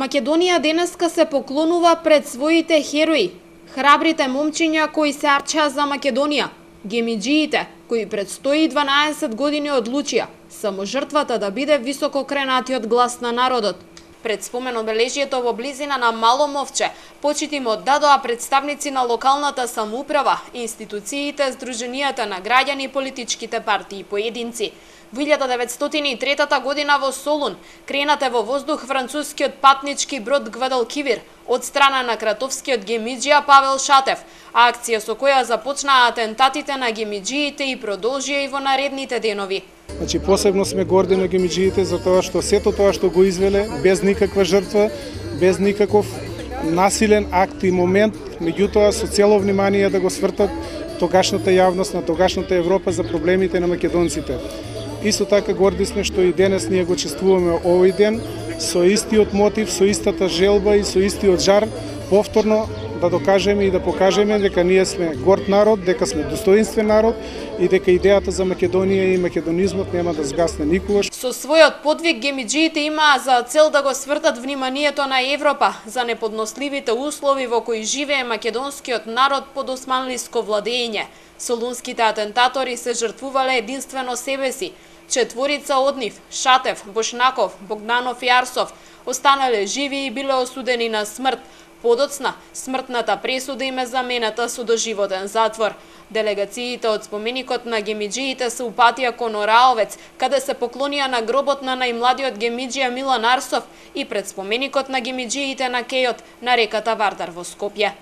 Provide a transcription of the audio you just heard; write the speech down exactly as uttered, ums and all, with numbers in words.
Македонија денеска се поклонува пред своите херои, храбрите момчиња кои се арчеа за Македонија, гемиџиите кои пред сто и дванаесет години одлучија само жртвата да биде висококренатиот глас на народот. Пред спомен обележието во близина на Мало Мовче, почит им оддадоа представници на локалната самоуправа, институциите, здруженијата на граѓани, политичките партии и поединци. Во илјада деветстотини и трета година во Солун кренат е во воздух францускиот патнички брод Гвадалкивир од страна на кратовскиот гемиџија Павел Шатев, а акција со која започнаа атентатите на гемиџиите и продолжија и во наредните денови. Значи, посебно сме горди на гемиџиите за тоа што сето тоа што го извеле без никаква жртва, без никаков насилен акт и момент, меѓутоа со цело внимание да го свртат тогашната јавност на тогашната Европа за проблемите на македонците. Исто така горди сме што и денес ние го чествуваме овој ден со истиот мотив, со истата желба и со истиот жар, повторно да докажеме и да покажеме дека ние сме горд народ, дека сме достоинствен народ и дека идејата за Македонија и македонизмот нема да згасне никогаш. Со својот подвиг гемиџиите имаа за цел да го свртат вниманието на Европа за неподносливите услови во кои живее македонскиот народ под османлиско владење. Солунските атентатори се жртвувале единствено себе си. Четворица од нив, Шатев, Бошнаков, Богданов и Арсов, останале живи и биле осудени на смрт. Подоцна, смртната пресуда им е замената со доживотен затвор. Делегациите од споменикот на гемиџиите се упатија кон Ораовец, каде се поклонија на гробот на најмладиот гемиџија Милан Арсов и пред споменикот на гемиџиите на кејот на реката Вардар во Скопје.